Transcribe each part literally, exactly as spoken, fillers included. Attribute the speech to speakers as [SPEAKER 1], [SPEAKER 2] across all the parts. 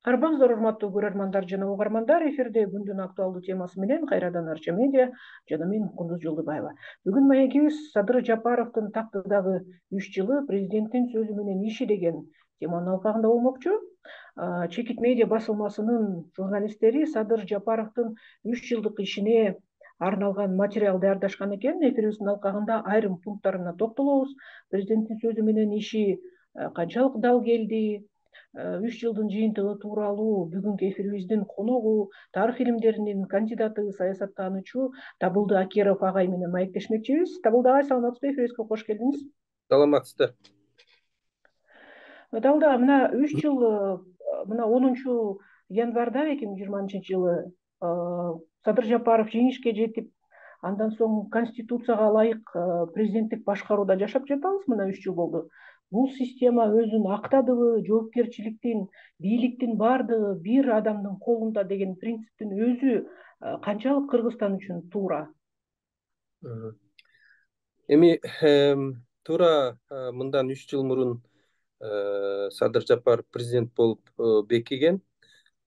[SPEAKER 1] Арбаңыздар, урматтуу көрөрмандар жана угармандар, эфирде күндүн актуалдуу темасы менен кайрадан Арча медиа жана мен Кундуз Жолдубаева. Бүгүн маегибиз Садыр Жапаровдун тактыдагы үч жылы президенттин сөзү менен иши деген теманын алкагында болмокчу. Чекит медиа басылмасынын журналисттери Садыр Жапаровдун үч жылдык ишине арналган материал даярдашкан экен. Эфирибиздин алкагында айрым пункттарына токтолобуз. Президенттин сөзү менен иши канчалык дал келди, үч жылдын жыйынтыгы тууралуу бүгүнкү эфирибиздин коногу, тарых илимдеринин кандидаты, саясаттануучу Табылды Акеров агай менен маектешмекчибиз. Табылды агай, саламатсызбы? Эфирибизге кош келдиңиз.
[SPEAKER 2] Саламатсыздар.
[SPEAKER 1] Табылды агай, мына үч жыл, мына онунчу январда эки миң жыйырманчы жылы Садыр Жапаров жеңишке жетип, андан соң Конституцияга ылайык президенттик башкарууда жашап жатабыз. Мына үч жыл болду. Бул система өзүн актадыбы, жоопкерчиликтин, бийликтин баардыгы бир адамдын колунда деген принциптин өзү канчалык Кыргызстан үчүн туура?
[SPEAKER 2] Эми туура мындан үч жыл мурун Садыр Жапаров президент болуп бекиген.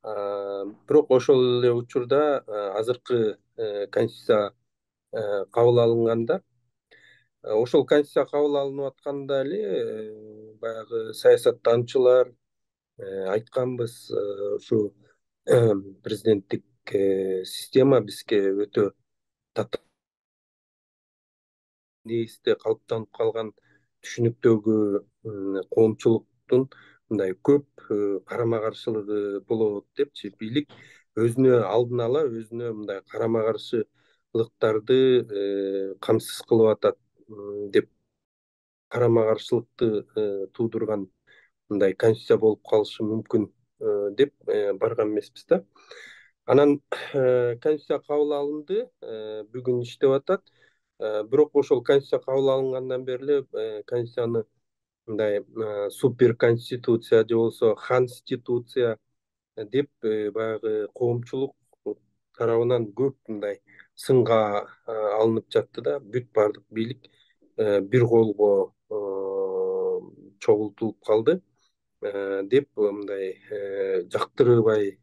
[SPEAKER 2] Бирок ошол эле учурда азыркы конституция кабыл алынганда, ошол конституция кабыл алынып атканда эле баягы саясаттануучулар айтканбыз, ушу президенттик система бизге өтө татаал негизде калыптанып калган түшүнүктөгү коомчулуктун мындай көп карама каршылыгы болот депчи, бийлик өзүнө алдын ала өзүнө мындай карама каршылыктарды камсыз кылып атат деп карама каршылыкты туудурган мындай конституция болуп калышы мүмкүн деп барган эмеспиз да. Анан конституция кабыл алынды, бүгүн иштеп атат. Бирок ошол конституция кабыл алынгандан бери эле конституцияны мындай супер конституция же болбосо ханституция деп баягы коомчулук тарабынан көп мындай сынга алынып жатты да. Бүт баардык бийлик бир колго чогултулуп калды деп мындай жактырбай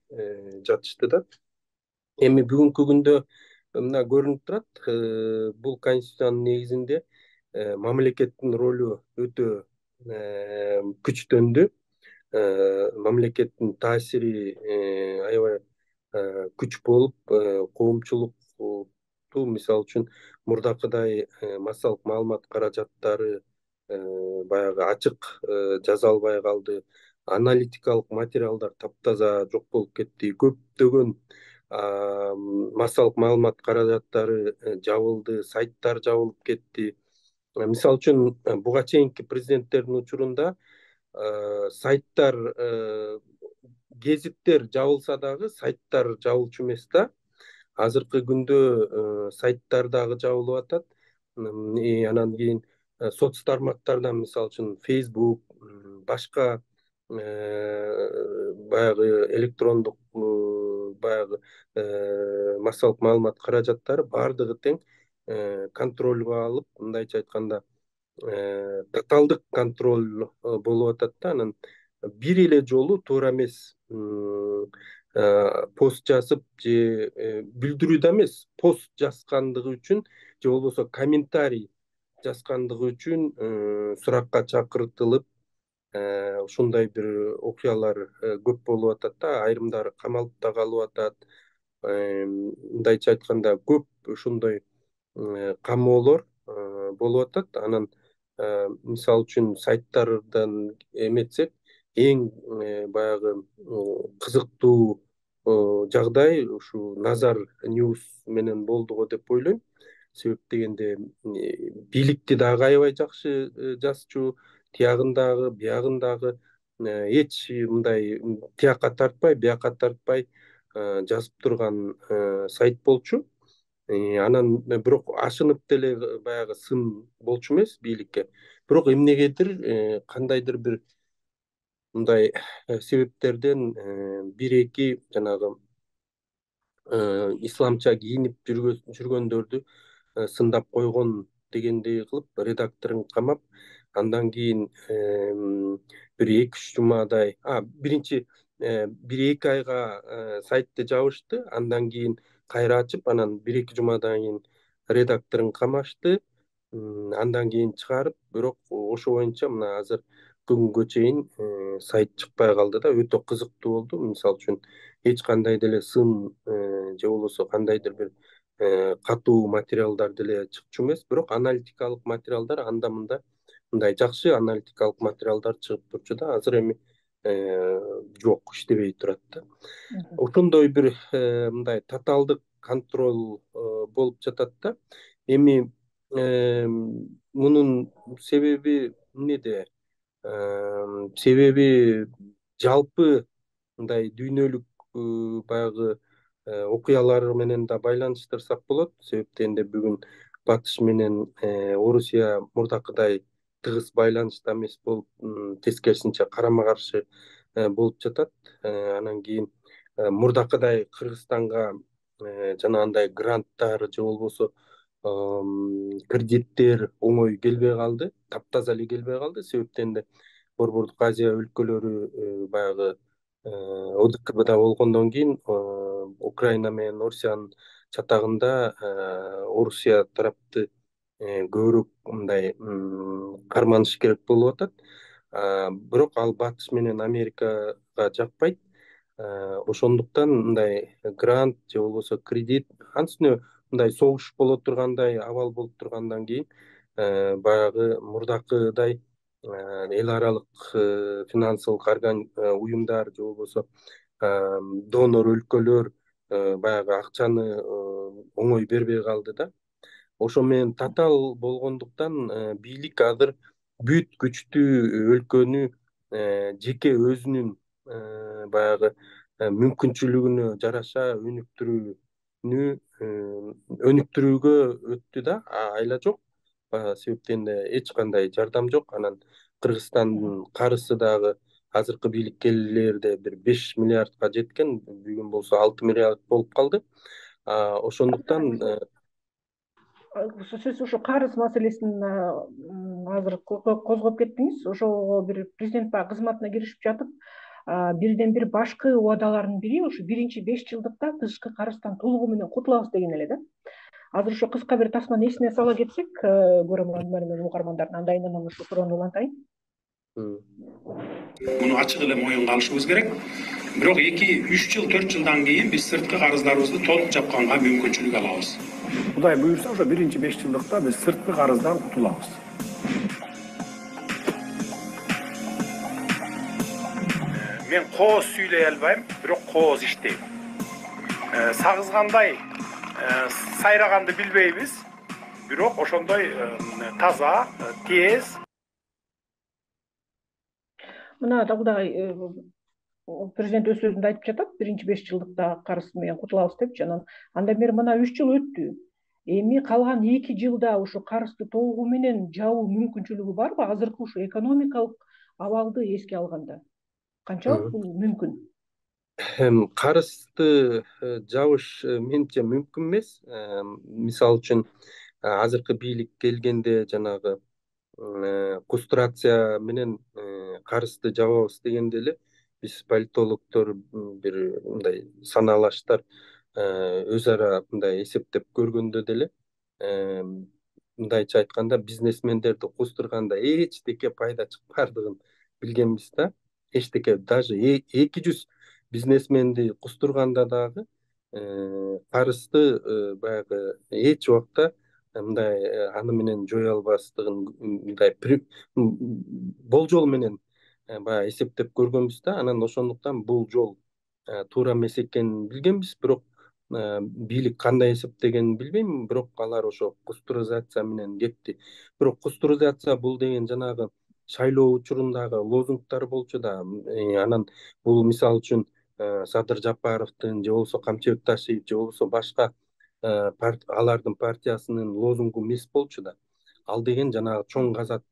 [SPEAKER 2] жатышты да. Эми бүгүнкү күндө мына көрүнүп турат, бул конституциянын негизинде мамлекеттин ролу өтө күчтөндү. Мамлекеттин таасири аябай күч болуп, коомчулукту мисалы үчүн мурдакыдай массалык маалымат каражаттары баягы ачык жаза албай калды. Аналитикалык материалдар таптаза жок болуп кетти. Көптөгөн массалык маалымат каражаттары жабылды, сайттар жабылып кетти. Мисалы үчүн буга чейинки президенттердин учурунда сайттар, гезиттер жабылса дагы сайттар жабылчу эмес да. Азыркы күндө сайттар дагы жабылып атат. Анан кийин соц тармактардан мисалы үчүн Facebook, башка баягы электрондук баягы массалык маалымат каражаттары баардыгы тең контролго алып, мындайча айтканда тоталдык контроль болуп атат да. Анан бир эле жолу туура эмес пост жазып же билдирүү да эмес, пост жазгандыгы үчүн же болбосо комментарий жазгандыгы үчүн суракка чакыртылып, ушундай бир окуялар көп болуп атат да. Айрымдары камалып да калып атат. Мындайча айтканда көп ушундай камоолор болуп атат. Анан мисалы үчүн сайттардан эметсек, эң баягы кызыктуу жагдай ушу Назар Ньюс менен болду го деп ойлойм. Себеп дегенде бийликти дагы аябай жакшы жазчу, тиягын дагы, биягын дагы эч мындай тияка тартпай, бияка тартпай жазып турган сайт болчу. Анан бирок ашынып деле баягы сын болчу эмес бийликке. Бирок эмнегедир кандайдыр бир мындай себептерден бир эки жанагы исламча кийинип жүргөндөрдү сындап койгон дегендей кылып редакторун камап, андан кийин бир эки үч жумадай, биринчи бир эки айга сайтты жабышты, андан кийин кайра ачып, анан бир эки жумадан кийин редакторун камашты, андан кийин чыгарып, бирок ошо боюнча мына азыр бүгүнгө чейин сайт чыкпай калды да. Өтө кызыктуу болду. Мисалы үчүн эч кандай деле сын же болбосо кандайдыр бир катуу материалдар деле чыкчу эмес, бирок аналитикалык материалдар анда мында мындай жакшы аналитикалык материалдар чыгып турчу да. Азыр эми жок, иштебей турат да. Ошондой бир мындай тоталдык контроль болуп жатат да. Эми мунун себеби эмнеде? Себеби жалпы мындай дүйнөлүк баягы окуялар менен да байланыштырсак болот. Себеп дегенде бүгүн Батыш менен Орусия мурдакыдай тыгыз байланышта эмес болуп, тескерисинче карама каршы болуп жатат. Анан кийин мурдакыдай Кыргызстанга жанагындай гранттар же болбосо кредиттер оңой келбей калды, таптаза эле келбей калды. Себеп дегенде Борбордук Азия өлкөлөрү баягы О Д К Бда болгондон кийин Украина менен Орусиянын чатагында Орусия тарапты көбүрөөк мындай карманыш керек болуп атат. Бирок ал Батыш менен Америкага жакпайт. Ошондуктан мындай грант же болбосо кредит, анткени мындай согуш боло тургандай абал болуп тургандан кийин баягы мурдакыдай эл аралык финансылык уюмдар же болбосо донор өлкөлөр баягы акчаны оңой бербей калды да. Ошо менен татаал болгондуктан бийлик азыр бүт күчтүү өлкөнү жеке өзүнүн баягы мүмкүнчүлүгүнө жараша өнүктүрүүнү өнүктүрүүгө өттү да. Айла жок, себеп дегенде эч кандай жардам жок. Анан Кыргызстандын карызы дагы азыркы бийликкелерде бир беш миллиардка жеткен, бүгүн болсо алты миллиард болуп калды. Ошондуктан
[SPEAKER 1] сиз ушу карыз маселесин азыр козгоп кеттиңиз. Ошого бир президент баягы кызматына киришип жатып, бирден бир башкы убадалардын бири ушу биринчи беш жылдыкта тышкы карыздан толугу менен кутулабыз деген эле да. Азыр ошо кыска бир тасманы эсине сала кетсек, көрөрмандар менен угармандардын андайынан анан ушу суроону улантайын.
[SPEAKER 3] Муну ачык эле моюнга алышыбыз керек. Бирок эки үч жыл төрт жылдан кийин биз сырткы карыздарыбызды толук жапканга мүмкүнчүлүк алабыз.
[SPEAKER 4] Кудай буюрса, ошо биринчи беш жылдыкта биз сырткы карыздан кутулабыз. Мен кооз сүйлөй албайм, бирок кооз иштейм. Сагызгандай сайраганды билбейбиз, бирок ошондой таза, тез.
[SPEAKER 1] Мына дагы президент өз сөзүндө айтып жатат, биринчи беш жылдыкта карыз менен кутулабыз депчи. Анан андан бери мына үч жыл өттү. Эми калган эки жылда ушу карызды толугу менен жабуу мүмкүнчүлүгү барбы? Азыркы ушу экономикалык абалды эске алганда канчалык бул мүмкүн?
[SPEAKER 2] Карызды жабыш менимче мүмкүн эмес. Мисалы үчүн азыркы бийлик келгенде жанагы кустурация менен карызды жабабыз дегенде эле биз политологдор бир мындай санаалаштар өз ара мындай эсептеп көргөндө деле мындайча айтканда бизнесмендерди кустурганда эчтеке пайда чыкпаардыгын билгенбиз да. Эчтеке, даже эки жүз бизнесменди кустурганда дагы карызды баягы эч убакта мындай аны менен жое албастыгын мындай болжол менен баягы эсептеп көргөнбүз да. Анан ошондуктан бул жол туура эмес экенин билгенбиз, бирок бийлик кандай эсептегенин билбейм, бирок алар ошо кустуризация менен кетти. Бирок кустуризация бул деген жанагы шайлоо учурундагы лозунгтар болчу да. Анан бул мисалы үчүн Садыр Жапаровдун же болбосо Камчыбек Ташиев же болбосо башка алардын партиясынын лозунгу эмес болчу да. Ал деген жанагы чоң казат,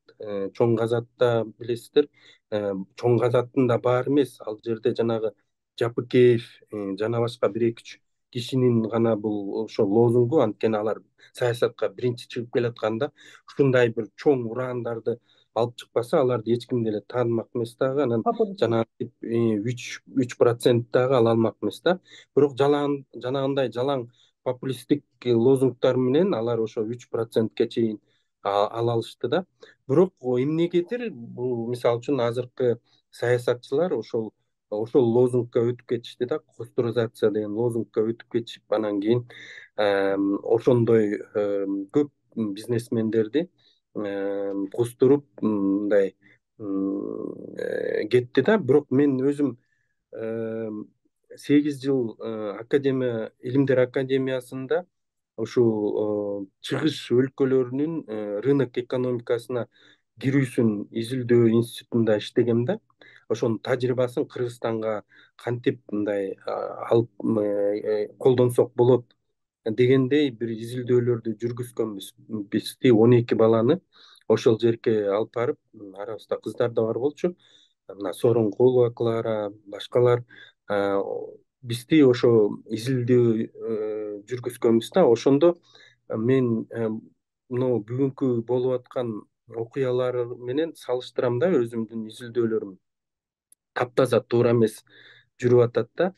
[SPEAKER 2] чоң казатта билесиздер, чоң казаттын да баары эмес. Ал жерде жанагы Жапыкеев жана башка бир эки үч кишинин гана бул ошо лозунгу, анткени алар саясатка биринчи чыгып келатканда ушундай бир чоң урандарды алып чыкпаса аларды эч ким деле таанымак эмес дагы. Анан жанагы үч үч процент дагы ала алмак эмес да. Бирок жанагындай жалаң популисттик лозунгдар менен алар ошо үч процентке чейин ала алышты да. Бирок эмнегедир бул мисалы үчүн азыркы саясатчылар ошол ошол лозунгка өтүп кетишти да, кустуризация деген лозунгка өтүп кетишип, анан кийин ошондой көп бизнесмендерди кустуруп мындай кетти да. Бирок мен өзүм сегиз жыл академия илимдер академиясында ушул чыгыш өлкөлөрүнүн рынок экономикасына кирүүсүн изилдөө институтунда иштегем да. Ошонун тажрыйбасын Кыргызстанга кантип мындай алып колдонсок болот дегендей бир изилдөөлөрдү жүргүзгөнбүз. Бизди он эки баланы ошол жерге алып барып, арабызда кыздар да бар болчу, мына Сооронкулова Клара, башкалар бизди ошо изилдөө жүргүзгөнбүз да. Ошондо мен мына бүгүнкү болуп аткан окуялар менен салыштырам да өзүмдүн изилдөөлөрүм. Таптаза туура эмес жүрүп атат да.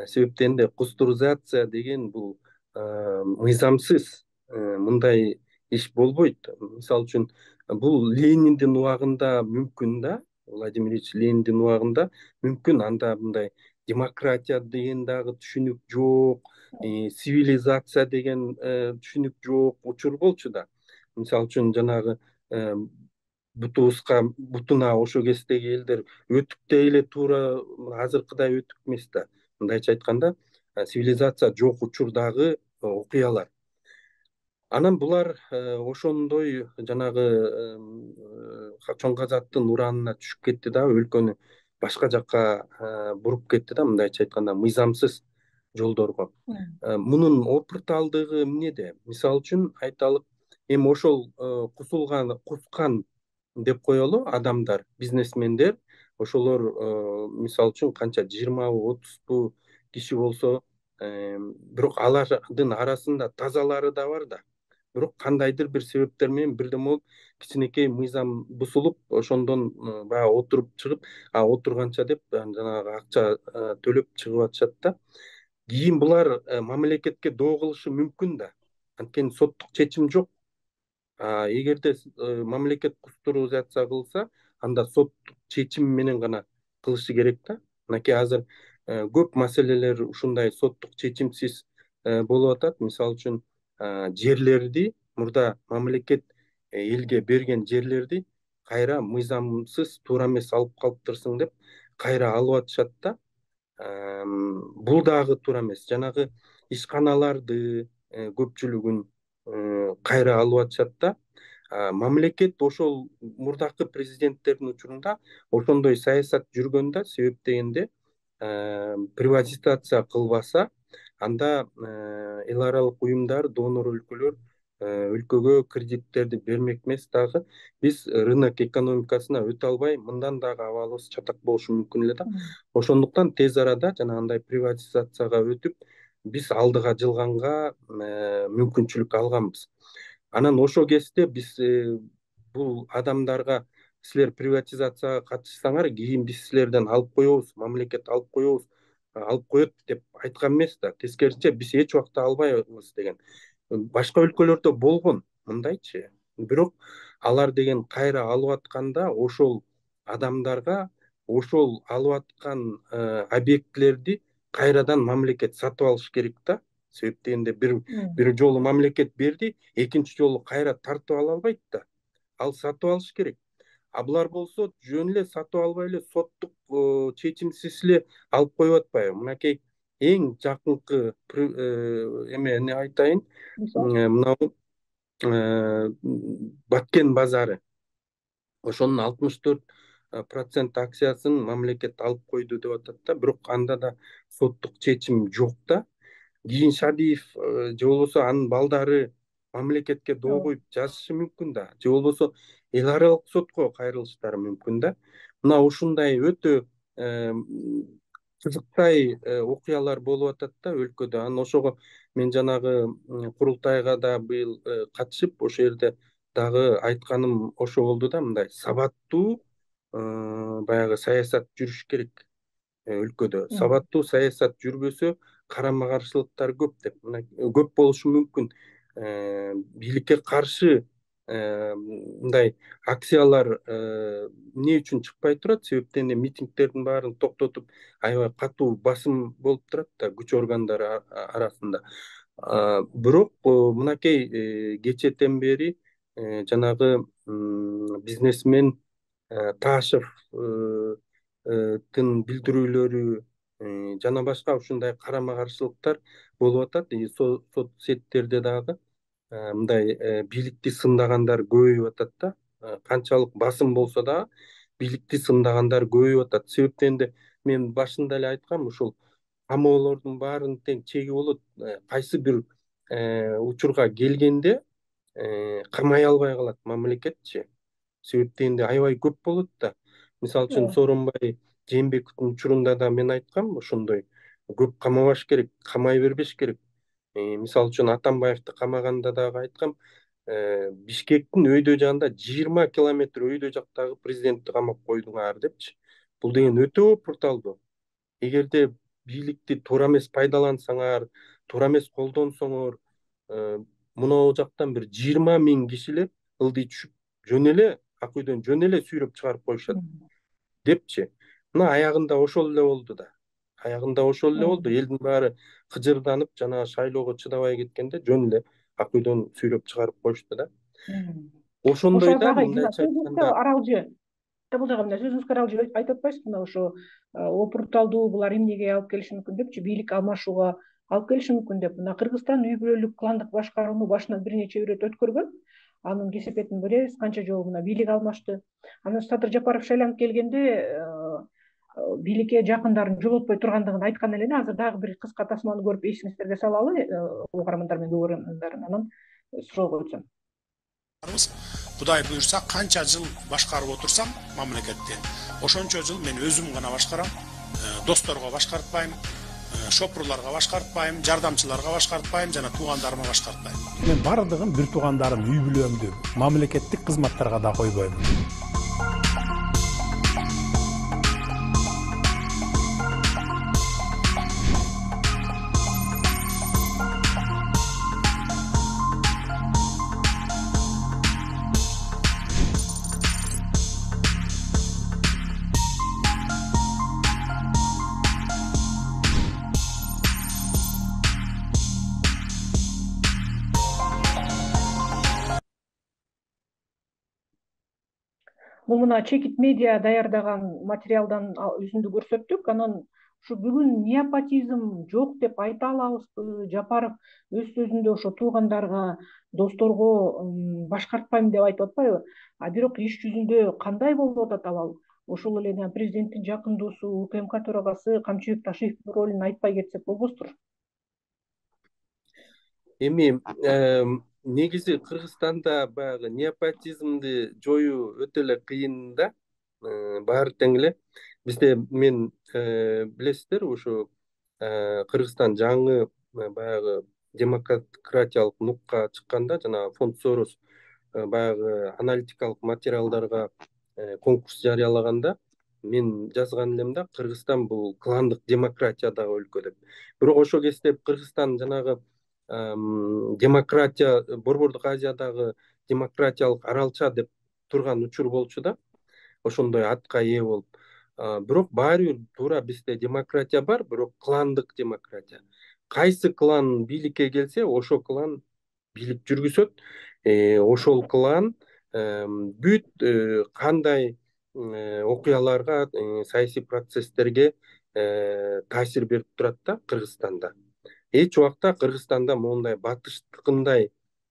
[SPEAKER 2] Себеп дегенде кустуризация деген бул мыйзамсыз мындай иш болбойт. Мисалы үчүн бул Лениндин убагында мүмкүн да, Владимир Ильич Лениндин убагында мүмкүн. Анда мындай демократия деген дагы түшүнүк жок, цивилизация деген түшүнүк жок учур болчу да. Мисалы үчүн жанагы бутубузга бутуна ошо кездеги элдер өтүп деле туура азыркыдай өтүп эмес да. Мындайча айтканда, цивилизация жок учурдагы окуялар. Анан булар ошондой жанагы чоң казаттын уранына түшүп кетти да, өлкөнү башка жакка буруп кетти да, мындайча айтканда мыйзамсыз жолдорго. Мунун опурталдыгы эмнеде? Мисалы үчүн айталык, эми ошол кусулган, кускан деп коелу адамдар, бизнесмендер, ошолор мисалы үчүн канча жыйырмабы отузбу киши болсо, бирок алардын арасында тазалары да бар да. Бирок кандайдыр бир себептер менен бирден болуп кичинекей мыйзам бузулуп, ошондон баягы отуруп чыгып, а отурганча деп жанагы акча төлөп чыгып атышат да. Кийин булар мамлекетке доо кылышы мүмкүн да. Анткени соттук чечим жок. Эгерде мамлекет кустуризация кылса, анда соттук чечим менен гана кылышы керек да. Мынакей азыр көп маселелер ушундай соттук чечимсиз болуп атат. Мисалы үчүн жерлерди мурда мамлекет элге берген жерлерди кайра мыйзамсыз туура эмес алып калыптырсың деп кайра алып атышат да. Бул дагы туура эмес. Жанагы ишканаларды көпчүлүгүн кайра алып атышат да. Мамлекет ошол мурдакы президенттердин учурунда ошондой саясат жүргөн да. Себеп дегенде приватизация кылбаса, анда эл аралык уюмдар, донор өлкөлөр өлкөгө кредиттерди бермек эмес дагы. Биз рынок экономикасына өтө албай, мындан дагы абалыбыз чатак болушу мүмкүн эле да. Ошондуктан тез арада жанагындай приватизацияга өтүп, биз алдыга жылганга мүмкүнчүлүк алганбыз. Анан ошол кезде биз бул адамдарга силер приватизацияга катышсаңар, кийин биз силерден алып коебуз, мамлекет алып коебуз, алып коет деп айткан эмес да. Тескерисинче биз эч убакта албайбыз деген. Башка өлкөлөрдө болгон мындайчы. Бирок алар деген кайра алып атканда ошол адамдарга ошол алып аткан объектилерди кайрадан мамлекет сатып алыш керек да. Себеп дегенде бир бир жолу мамлекет берди, экинчи жолу кайра тартып ала албайт да. Ал сатып алыш керек. А булар болсо жөн эле сатып албай эле соттук чечимсиз эле алып коюп атпайбы? Мынакей эң жакынкы эмени айтайын. Мына Баткен базары. Ошонун алтымыш төрт процент акциясын мамлекет алып койду деп атат да. Бирок анда да соттук чечим жок да. Кийин Шадиев же болбосо анын балдары мамлекетке доо коюп жазышы мүмкүн да. Же болбосо эл аралык сотко кайрылыштары мүмкүн да. Мына ушундай өтө кызыктай окуялар болуп атат да өлкөдө. Анан ошого мен жанагы курултайга да быйыл катышып, ошол жерде дагы айтканым ошо болду да, мындай сабаттуу баягы саясат жүрүш керек өлкөдө. Сабаттуу саясат жүрбөсө карама каршылыктар көп деп, мына көп болушу мүмкүн. Бийликке каршы мындай акциялар эмне үчүн чыкпай турат? Себептен эле митингдердин баарын токтотуп, аябай катуу басым болуп турат да күч органдары арасында. Бирок мынакей кечэтен бери жанагы бизнесмен Ташевдин билдирүүлөрү жана башка ушундай карама каршылыктар болуп атат. Соц сеттерде дагы мындай бийликти сындагандар көбөйүп атат да. Канчалык басым болсо дагы бийликти сындагандар көбөйүп атат. Себептен эле мен башында эле айткам, ушул камоолордун баарынын тең чеги болот. Кайсы бир учурга келгенде камай албай калат мамлекетчи. Себептен эле аябай көп болот да. Мисалы үчүн Сооронбай Жээнбековдун учурунда да мен айткам, ошондой көп камабаш керек, камай бербеш керек. Мисалы үчүн Атамбаевди камаганда дагы айткам, Бишкектин өйдө жагында жыйырма километр өйдө жактагы президентти камап койдуңар депчи. Бул деген өтө опурталдуу. Эгерде бийликти туура эмес пайдалансаңар, туура эмес колдонсоңор, мына жактан бир жыйырма миң кишилер ылдый түшүп жөн эле ак үйдөн жөн эле сүйрөп чыгарып коюшат депчи. Мына аягында ошол эле болду да. Аягында ошол эле болду. Элдин баары кыжырданып, жана шайлоого чыдабай кеткенде жөн эле ак үйдөн сүйрөп чыгарып коюшту да. Ошондой да мындайча айтканда
[SPEAKER 1] аралжы бул жагы мына сөзүңүзгө аралжы айтып атпайсызбы, мына ошо опурталдуу булар эмнеге алып келиши мүмкүн депчи, бийлик алмашууга алып келиши мүмкүн деп. Мына Кыргызстан үй бүлөлүк кландык башкарууну башынан бир нече ирет өткөргөн. Анын кесепетин билебиз, канча жолу мына бийлик алмашты. Анан Садыр Жапаров шайланып келгенде бийликке жакындарын жолотпой тургандыгын айткан эле. Азыр дагы бир кыска тасманы көрүп эсиңиздерге салалы, угармандар менен көрөрмандар, анан суроо койсом.
[SPEAKER 3] Кудай буюрса, канча жыл башкарып отурсам мамлекетти, ошончо жыл мен өзүм гана башкарам, досторго башкартпайм, шопурларга башкартпайм, жардамчыларга башкартпайм, жана туугандарыма башкартпайм. Мен бардыгын бир туугандарым, үй бүлөмдү, мамлекеттик кызматтарга да койбойм.
[SPEAKER 1] Бул мына Чекит медиа даярдаган материалдан үзүндү көрсөттүк. Анан ушу бүгүн неопатизм жок деп айта алабызбы? Жапаров өз сөзүндө ошо туугандарга, досторго башкартпайм деп айтып атпайбы? А бирок иш жүзүндө кандай болуп атат ал? Ошол эле президенттин жакын досу, УКМК төрагасы Камчыбек Ташиевдин ролун айтпай кетсек болбостур?
[SPEAKER 2] Эми негизи Кыргызстанда баягы неопатизмди жоюу өтө эле кыйын да. Баары тең эле. Бизде мен билесиздер, ушу Кыргызстан жаңы баягы демократиялык нукка чыкканда, жана фонд Сорос баягы аналитикалык материалдарга конкурс жарыялаганда мен жазган элем да, Кыргызстан бул кландык демократиядагы өлкө деп. Бирок ошол кезде Кыргызстан жанагы демократия, Борбордук Азиядагы демократиялык аралча деп турган учур болчу да, ошондой атка ээ болуп. Бирок баары бир туура бизде демократия бар, бирок кландык демократия. Кайсы клан бийликке келсе, ошол клан бийлик жүргүзөт. Ошол клан бүт кандай окуяларга, саясий процесстерге таасир берип турат да Кыргызстанда. Эч убакта Кыргызстанда моундай батыштыкындай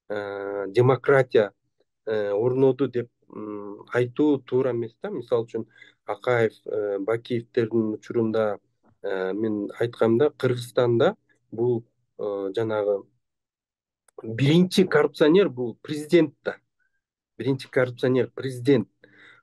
[SPEAKER 2] демократия орноду деп айтуу туура эмес да. Мисалы үчүн Акаев, Бакиевдердин учурунда мен айткам да, Кыргызстанда бул жанагы биринчи коррупционер бул президент да. Биринчи коррупционер президент.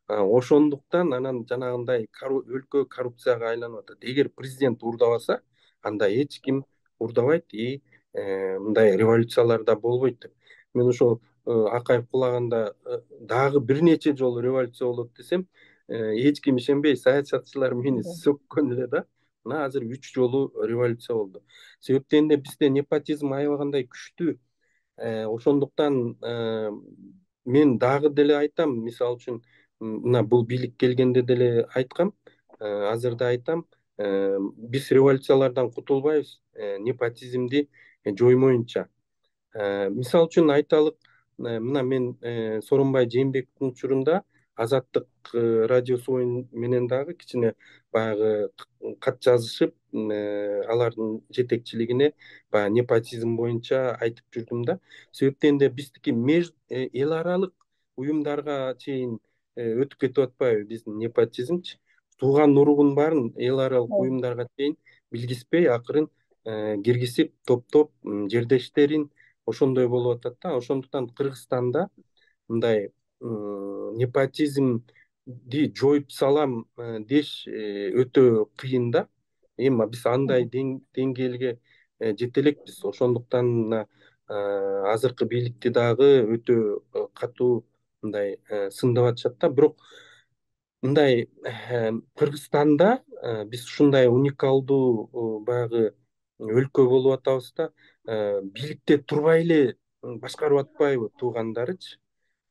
[SPEAKER 2] Ошондуктан анан жанагындай өлкө коррупцияга айланып атат. Эгер президент урдабаса, анда эч ким урдабайт, и мындай революциялар да болбойт деп. Мен ошол Акаев кулаганда дагы бир нече жолу революция болот десем, эч ким ишенбей, саясатчылар мени сөккөн эле да. Мына азыр үч жолу революция болду. Себептен эле бизде непотизм аябагандай күчтүү. Ошондуктан мен дагы деле айтам, мисалы үчүн мына бул бийлик келгенде деле айткам, азыр да айтам, биз революциялардан кутулбайбыз, непотизмди жоймоюнча. Мисалы үчүн айталык, мына мен Сооронбай Жээнбековдун учурунда Азаттык радиосу менен дагы кичине баягы кат жазышып, алардын жетекчилигине баягы непотизм боюнча айтып жүрдүм да. Себептен эле биздики эл аралык уюмдарга чейин өтүп кетип атпайбы биздин непотизмчи? Тууган уругун баарын эл аралык уюмдарга чейин билгизбей, акырын киргизип, топтоп жердештерин ошондой болуп атат да. Ошондуктан Кыргызстанда мындай непотизмди жоюп салам деш өтө кыйын да. Эми биз андай деңгээлге жете элекпиз. Ошондуктан азыркы бийликти дагы өтө катуу мындай сындап атышат да. Бирок мындай Кыргызстанда биз ушундай уникалдуу баягы өлкө болуп атабыз да. Бийликте турбай эле башкарып атпайбы туугандарычы?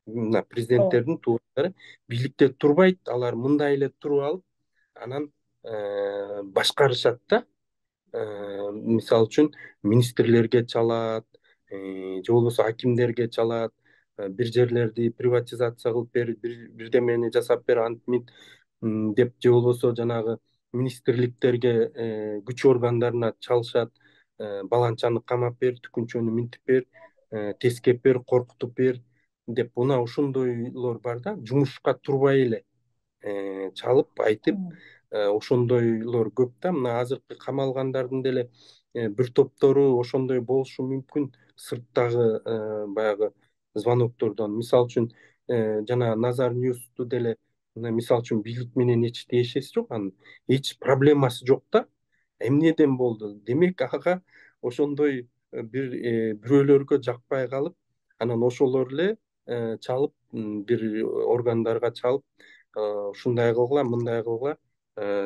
[SPEAKER 2] Мына президенттердин туугандары бийликте турбайт, алар мындай эле туруп алып, анан башкарышат да. Мисалы үчүн министрлерге чалат, же болбосо акимдерге чалат, бир жерлерди приватизация кылып бер, бирдемени жасап бер, антмин деп, же болбосо жанагы министрликтерге, күч органдарына чалышат, баланчаны камап бер, түкүнчөнү минтип бер, тескеп бер, коркутуп бер деп, мына ошондойлор бар да. Жумушка турбай эле чалып айтып, ошондойлор көп да. Мына азыркы камалгандардын деле бир топтору ошондой болушу мүмкүн, сырттагы баягы звоноктордон. Мисалы үчүн жана Назар Ньюсту деле, мисалы үчүн бийлик менен эч тиешеси жок, анын эч проблемасы жок да. Эмнеден болду? Демек ага ошондой бир бирөөлөргө жакпай калып, анан ошолор эле чалып, бир органдарга чалып, ушундай кылгыла, мындай кылгыла,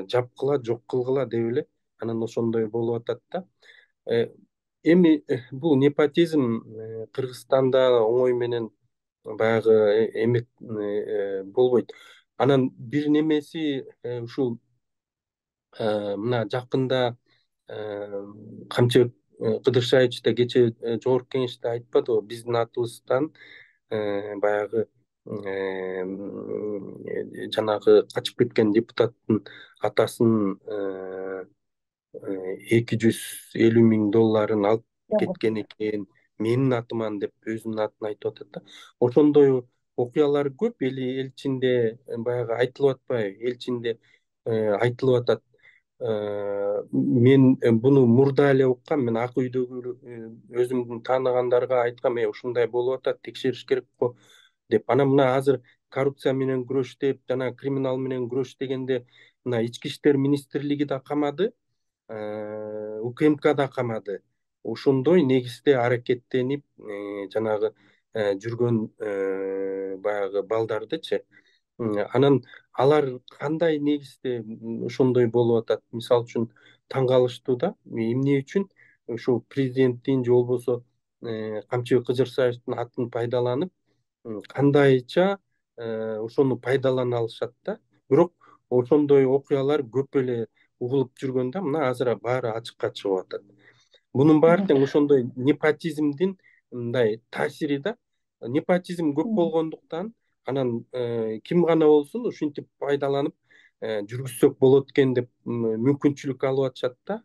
[SPEAKER 2] жапкыла, жок кылгыла деп эле, анан ошондой болуп атат да. Эми бул непотизм Кыргызстанда оңой менен баягы эмек болбойт. Анан бир немеси ушул мына жакында Камчыбек Кыдыршаевич да кече жогорку кеңеште айтпадыбы, биздин атыбыздан баягы жанагы качып кеткен депутаттын атасын эки жүз элүү миң долларын алып кеткен экен, менин атыман деп өзүнүн атын айтып атат да. Ошондой окуялар көп эл ичинде баягы айтылып атпайбы? Эл ичинде айтылып атат. Мен буну мурда эле уккам, мен Ак үйдөгү өзүмдүн тааныгандарга айткам, э ушундай болуп атат, текшериш керек го деп. Анан мына азыр коррупция менен күрөш деп, жана криминал менен күрөш дегенде, мына Ички иштер министрлиги да камады, УКМК да камады. Ошондой негизде аракеттенип жанагы жүргөн баягы балдардычы. Анан алар кандай негизде ошондой болуп атат? Мисалы үчүн таң калыштуу да. Эмне үчүн ушул президенттин же болбосо Камчыбек Кыдыршаевдин атын пайдаланып, кандайча ошону пайдалана алышат да. Бирок ошондой окуялар көп эле угулуп жүргөн да. Мына азыр баары ачыкка чыгып атат. Мунун баары тең ошондой непотизмдин мындай таасири да. Непотизм көп болгондуктан, анан ким гана болсун ушинтип пайдаланып жүргүзсөк болот экен деп мүмкүнчүлүк алып атышат да.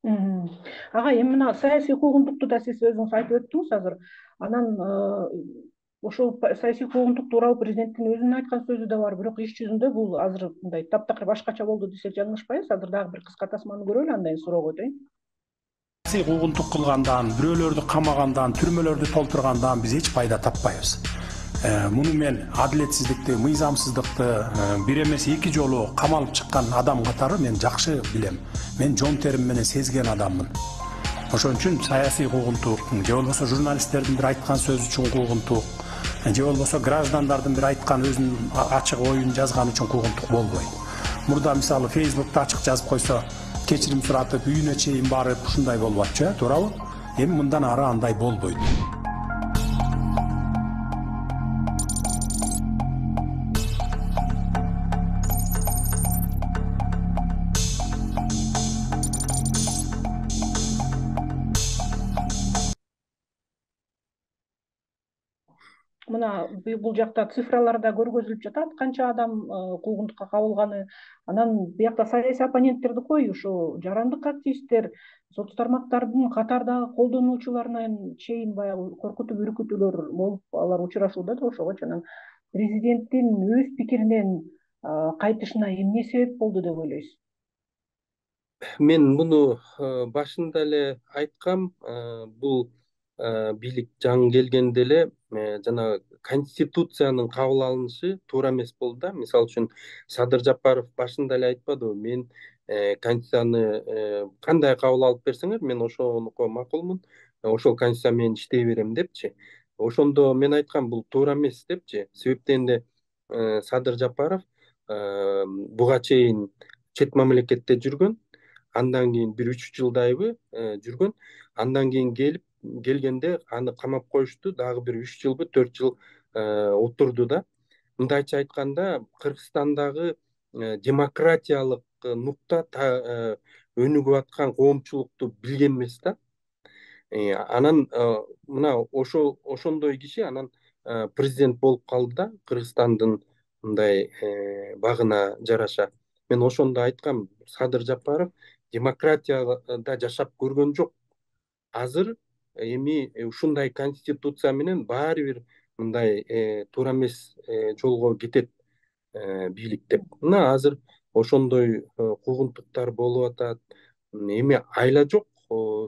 [SPEAKER 1] Ага, эми мына саясий куугунтукту да сиз өзүңүз айтып өттүңүз азыр. Анан ошол саясий куугунтук тууралуу президенттин өзүнүн айткан сөзү да бар, бирок иш жүзүндө бул азыр мындай таптакыр башкача болду десек жаңылышпайбыз. Азыр дагы бир кыска тасманы көрөлү, андан кийин суроого өтөйүн.
[SPEAKER 3] Саясий куугунтук кылгандан, бирөөлөрдү камагандан, түрмөлөрдү толтургандан биз эч пайда таппайбыз. Муну мен адилетсиздикти, мыйзамсыздыкты бир эмес эки жолу камалып чыккан адам катары мен жакшы билем. Мен жон терим менен сезген адаммын. Ошон үчүн саясий куугунтук же болбосо журналисттердин бир айткан сөзү үчүн куугунтук же болбосо граждандардын бир айткан өзүнүн ачык оюн жазганы үчүн куугунтук болбойт. Мурда мисалы Facebook'та ачык жазып койсо, кечирим суратып, үйүнө чейин барып ушундай болуп атчу, э, туурабы? Эми мындан ары андай болбойт.
[SPEAKER 1] Мына бул жакта цифраларда көргөзүлүп жатат, канча адам куугунтукка кабылганы. Анан биякта саясий оппоненттерди кой, ушу жарандык активисттер, соц тармактардын катардагы колдонуучуларынан чейин баягы коркутуп үркүтүүлөр болуп, алар учурашууда да ошого. Анан президенттин өз пикиринен кайтышына эмне себеп болду деп ойлойсуз?
[SPEAKER 2] Мен муну башында эле айткам, бул бийлик жаңы келгенде эле жана конституциянын кабыл алынышы туура эмес болду да. Мисалы үчүн Садыр Жапаров башында эле айтпадыбы, мен конституцияны кандай кабыл алып берсеңер, мен ошонуко макулмун, ошол конституция менен иштей берем депчи. Ошондо мен айткам, бул туура эмес депчи. Себеп дегенде Садыр Жапаров буга чейин чет мамлекетте жүргөн, андан кийин бир үч жылдайбы жүргөн, андан кийин келип келгенде аны камап коюшту, дагы бир үч жылбы төрт жыл отурду да. Мындайча айтканда, Кыргызстандагы демократиялык нукта өнүгүп аткан коомчулукту билген эмес да. Анан мына ошол ошондой киши анан президент болуп калды да, Кыргызстандын мындай багына жараша. Мен ошондо айткам, Садыр Жапаров демократияда жашап көргөн жок. Азыр эми ушундай конституция менен баары бир мындай туура эмес жолго кетет бийлик деп. Мына азыр ошондой куугунтуктар болуп атат. Эми айла жок,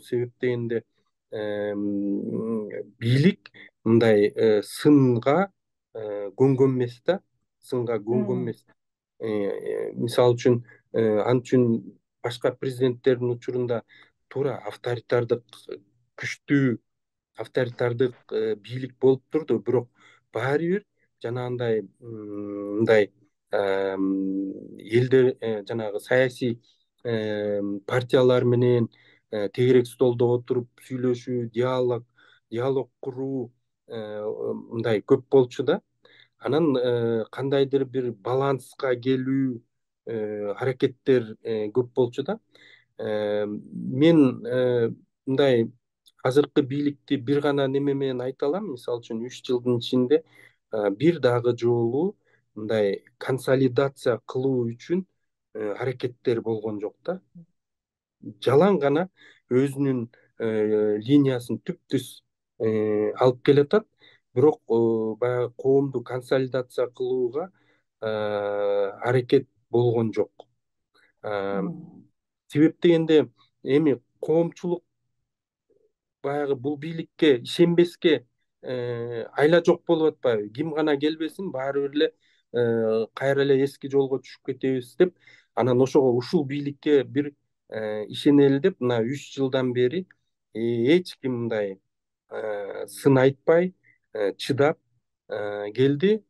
[SPEAKER 2] себеп дегенде бийлик мындай сынга көнгөн эмес да, сынга көнгөн эмес. Мисалы үчүн, ал үчүн башка президенттердин учурунда туура авторитардык, күчтүү авторитардык бийлик болуп турду, бирок баары бир жанагындай мындай элдер жанагы саясий партиялар менен тегерек столдо отуруп сүйлөшүү, диалог диалог куруу мындай көп болчу да. Анан кандайдыр бир баланска келүү аракеттер көп болчу да. Мен мындай азыркы бийликти бир гана неме менен айта алам. Мисалы үчүн үч жылдын ичинде бир дагы жолу мындай консолидация кылуу үчүн аракеттер болгон жок да. Жалаң гана өзүнүн линиясын түптүз алып келатат, бирок баягы коомду консолидация кылууга аракет болгон жок. Себеп дегенде эми коомчулук баягы бул бийликке ишенбеске айла жок болуп атпайбы? Ким гана келбесин, баары бир эле кайра эле эски жолго түшүп кетебиз деп, анан ошого ушул бийликке бир ишенели деп мына үч жылдан бери эч ким мындай сын айтпай чыдап келди.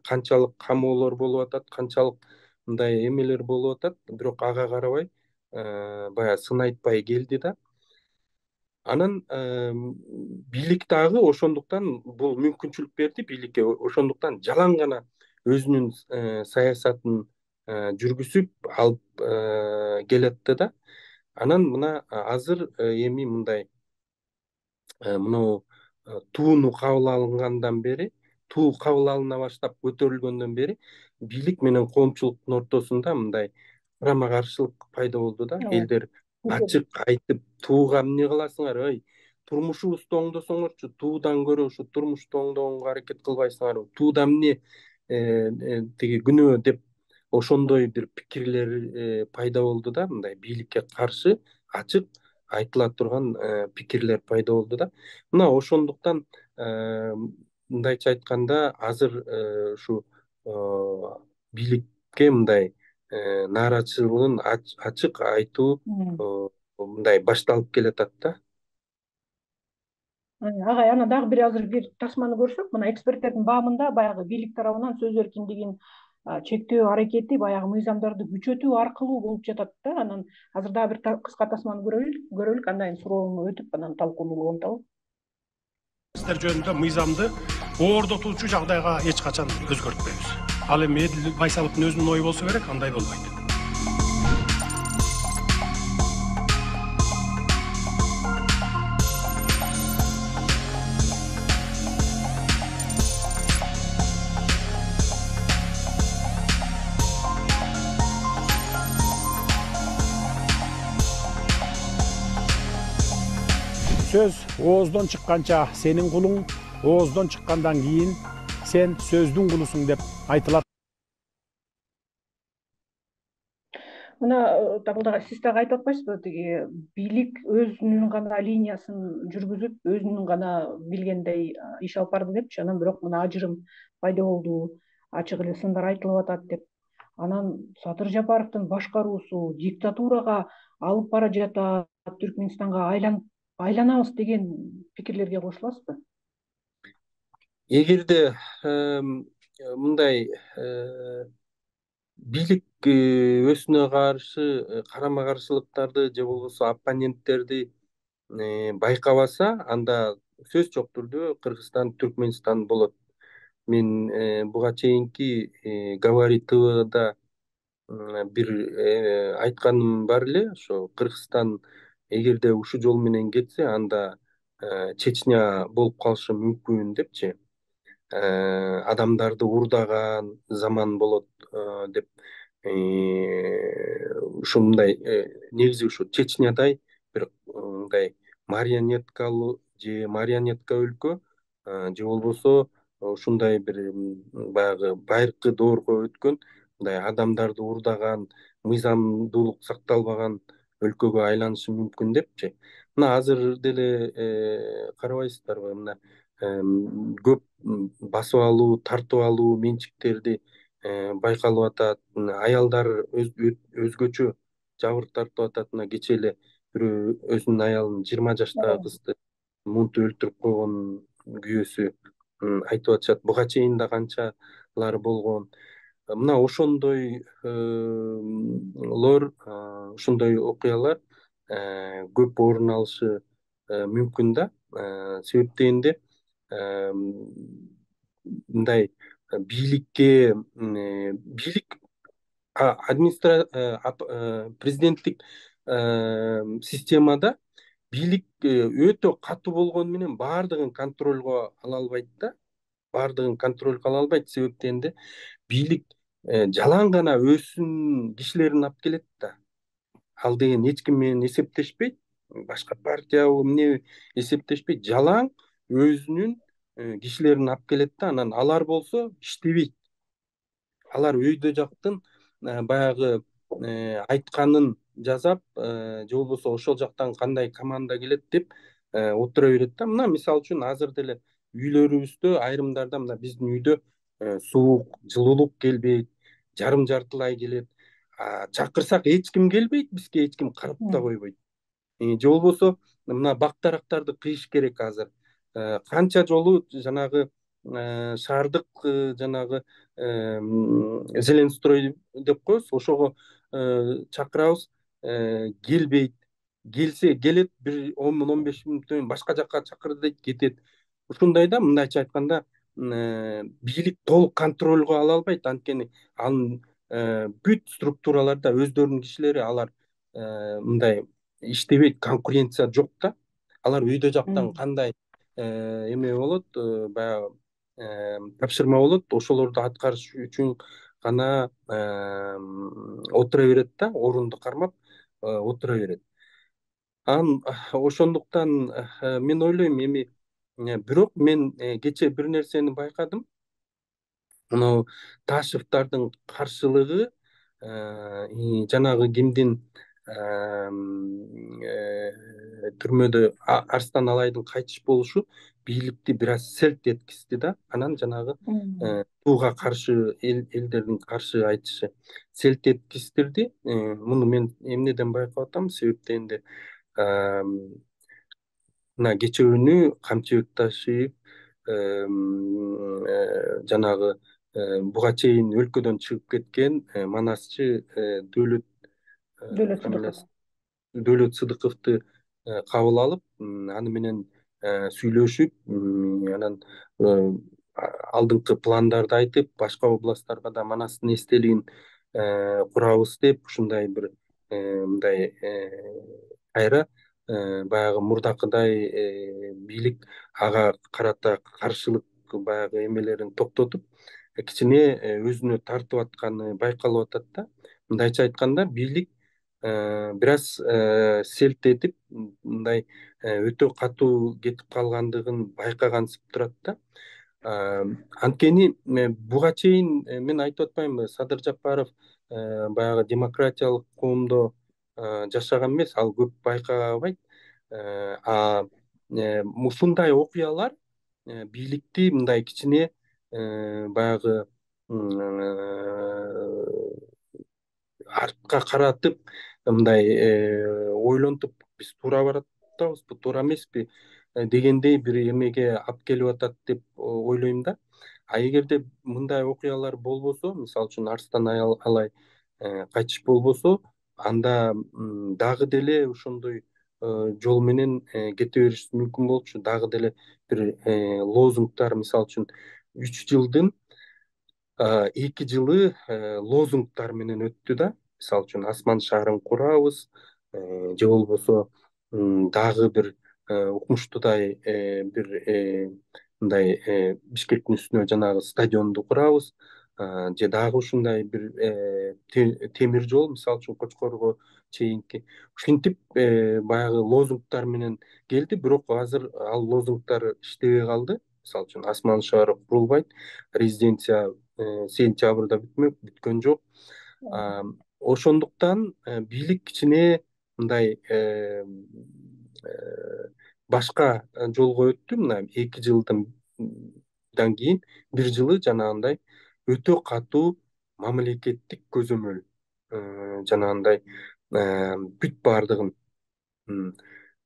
[SPEAKER 2] Канчалык камоолор болуп атат, канчалык мындай эмелер болуп атат, бирок ага карабай баягы сын айтпай келди да. Анан бийлик дагы ошондуктан бул мүмкүнчүлүк берди бийликке, ошондуктан жалаң гана өзүнүн саясатын жүргүзүп алып келатты да. Анан мына азыр эми мындай мына тууну кабыл алынгандан бери, туу кабыл алына баштап көтөрүлгөндөн бери бийлик менен коомчулуктун ортосунда мындай карама каршылык пайда болду да. Элдер ачык айтып, тууга эмне кыласыңар, ой, турмушубузду оңдосоңорчу, туудан көрө ушу турмушту оңдогонго аракет кылбайсыңарбы, тууда эмне тиги күнөө деп ошондой бир пикирлер пайда болду да. Мындай бийликке каршы ачык айтыла турган пикирлер пайда болду да. Мына ошондуктан мындайча айтканда азыр ушу бийликке мындай нааразычылыгын ачык айтуу мындай башталып келатат да.
[SPEAKER 1] Агай, ана дагы бир азыр бир тасманы көрсөк, мына эксперттердин баамында баягы бийлик тарабынан сөз эркиндигин чектөө аракети баягы мыйзамдарды күчөтүү аркылуу болуп жатат да. Анан азыр дагы бир кыска тасманы көрөлүк, көрөлүк, андан кийин суроону өтүп анан талкууну улантабыз.
[SPEAKER 3] Сиздер жөнүндө мыйзамды оордотуучу жагдайга эч качан өзгөртпөйбүз. Ал эми Эдил Байсаловдун өзүнүн ою болсо керек, андай болбойт.
[SPEAKER 5] Сөз ооздон чыкканча сенин кулуң, ооздон чыккандан кийин сен сөздүн кулусуң деп айтылат.
[SPEAKER 1] Мына табылдагы сиз дагы айтып атпайсызбы, тиги бийлик өзүнүн гана линиясын жүргүзүп, өзүнүн гана билгендей иш алып барды депчи. Анан бирок мына ажырым пайда болду, ачык эле сындар айтылып атат деп. Анан Садыр Жапаровдун башкаруусу диктатурага алып бара жатат, Түркмөнстанга айланып айланабыз деген пикирлерге кошуласызбы?
[SPEAKER 2] Эгерде мындай бийлик өзүнө каршы карама каршылыктарды же болбосо оппоненттерди байкабаса, анда сөз жок түрдө Кыргызстан Түркмөнстан болот. Мен буга чейинки Говори ТВда бир айтканым бар эле, ошо Кыргызстан эгерде ушул жол менен кетсе, анда Чечня болуп калышы мүмкүн депчи. Адамдарды урдаган заман болот деп. Ушундай негизи ушу Чечнядай бир мындай марионеткалуу же марионетка өлкө же болбосо ушундай бир баягы байыркы доорго өткөн, мындай адамдарды урдаган, мыйзамдуулук сакталбаган өлкөгө айланышы мүмкүн депчи. Мына азыр деле карабайсыздарбы, мына көп басып алуу, тартып алуу менчиктерди байкалып атат. Аялдар өзгөчө жабыр тартып атат. Мына кечээ эле бирөө өзүнүн аялын, жыйырма жаштагы кызды мынтип өлтүрүп койгон күйөөсү айтып атышат. Буга чейин да канчалары болгон. Мына ошондой лор, ошондой окуялар көп орун алышы мүмкүн да. Себеп дегенде мындай бийликке бийлик президенттик системада бийлик өтө катуу болгону менен баардыгын контролго ала албайт да. Баардыгын контролго ала албайт. Себеп дегенде бийлик жалаң гана өзүнүн кишилерин алып келет да. Ал деген эч ким менен эсептешпейт, башка партиябы эмне эсептешпейт, жалаң өзүнүн кишилерин алып келет да. Анан алар болсо иштебейт. Алар өйдө жактын баягы айтканын жасап же болбосо ошол жактан кандай команда келет деп отура берет да. Мына мисалы үчүн азыр деле үйлөрүбүздө айрымдарда, мына биздин үйдө суук, жылуулук келбейт, жарым жартылай келет. Чакырсак эч ким келбейт, бизге эч ким карап да койбойт. Же болбосо мына бак-дарактарды кыйыш керек азыр. Канча жолу жанагы шаардык жанагы Зеленстрой деп коебуз, ошого чакырабыз, келбейт. Келсе келет, бир он миң он беш мүнөттөн кийин башка жакка чакыр дейт, кетет. Ушундай да, мындайча айтканда бийлик толук контролго ала албайт. Анткени анын бүт структураларда өздөрүнүн кишилери, алар мындай иштебейт, конкуренция жок да. Алар өйдө жактан кандай эме болот, баягы тапшырма болот, ошолорду аткарыш үчүн гана отура берет да, орунду кармап отура берет. Анан ошондуктан мен ойлойм, эми бирок мен кечээ бир нерсени байкадым. Мына Ташевдардын каршылыгы жанагы кимдин түрмөдө Арстан Алайдын кайтыш болушу бийликти бир аз селт эткизди да. Анан жанагы буга каршы элдердин каршы айтышы селт эткиздирди. Муну мен эмнеден байкап атам? Себеп дегенде мына кечээ күнү Камчыбек Ташиев жанагы буга чейин өлкөдөн чыгып кеткен манасчы Дөөлөт
[SPEAKER 1] Дөөлөт Сыдыков.
[SPEAKER 2] фамилиясы Дөөлөт Сыдыковду кабыл алып, аны менен сүйлөшүп, анан алдыңкы пландарды айтып, башка областтарга да Манастын эстелигин курабыз деп, ушундай бир мындай кайра баягы мурдакыдай бийлик ага карата каршылык баягы эмелерин токтотуп, кичине өзүнө тартып атканы байкалып атат да. Мындайча айтканда, бийлик бир аз селт этип, мындай өтө катуу кетип калгандыгын байкагансып турат да. Анткени буга чейин мен айтып атпаймынбы, Садыр Жапаров баягы демократиялык коомдо жашаган эмес, ал көп байкабайт. А ушундай окуялар бийликти мындай кичине баягы артка каратып, мындай ойлонтуп, биз туура барып атабызбы, туура эмеспи дегендей бир эмеге алып келип атат деп ойлойм да. А эгерде мындай окуялар болбосо, мисалы үчүн Арстан Алай кайтыш болбосо, анда дагы деле ошондой жол менен кете бериш мүмкүн болчу. Дагы деле бир лозунгдар, мисалы үчүн үч жылдын эки жылы лозунгдар менен өттү да. Мисалы үчүн Асман шаарын курабыз, же болбосо дагы бир укмуштуудай бир мындай Бишкектин үстүнө жанагы стадионду курабыз, же дагы ушундай бир темир жол, мисалы үчүн Кочкорго чейинки. Ушинтип баягы лозунгдар менен келди, бирок азыр ал лозунгдар иштебей калды. Мисалы үчүн Асман шаары курулбайт, резиденция сентябрда бүтмөк, бүткөн жок. Ошондуктан бийлик кичине мындай башка жолго өттү. Мына эки жылдан кийин бир жылы жанагындай өтө катуу мамлекеттик көзөмөл, жанагындай бүт баардыгын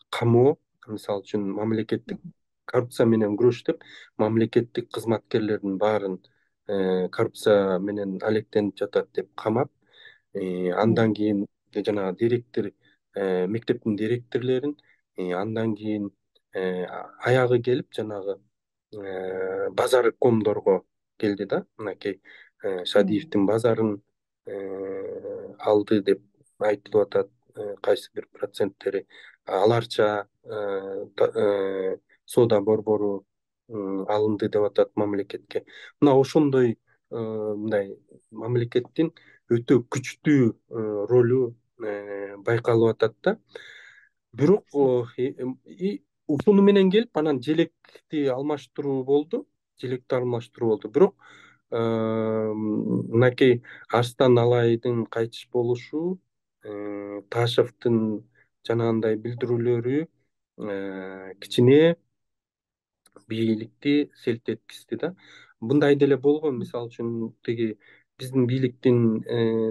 [SPEAKER 2] камоо, мисалы үчүн мамлекеттик коррупция менен күрөш деп, мамлекеттик кызматкерлердин баарын коррупция менен алектенип жатат деп камап, андан кийин жанагы директор, мектептин директорлорун, андан кийин аягы келип жанагы базар комдорго келди да. Мынакей Шадиевдин базарын алды деп айтылып атат, кайсы бир проценттери. Аларча соода борбору алынды деп атат мамлекетке. Мына ошондой мындай мамлекеттин өтө күчтүү ролу байкалып атат да. Бирок ушуну менен келип, анан желекти алмаштыруу болду, желекти алмаштыруу болду. Бирок мынакей Арстан Алайдын кайтыш болушу, Ташевдин жанагындай билдирүүлөрү кичине бийликти селт эткизди да. Мындай деле болгон, мисалы үчүн тиги биздин бийликтин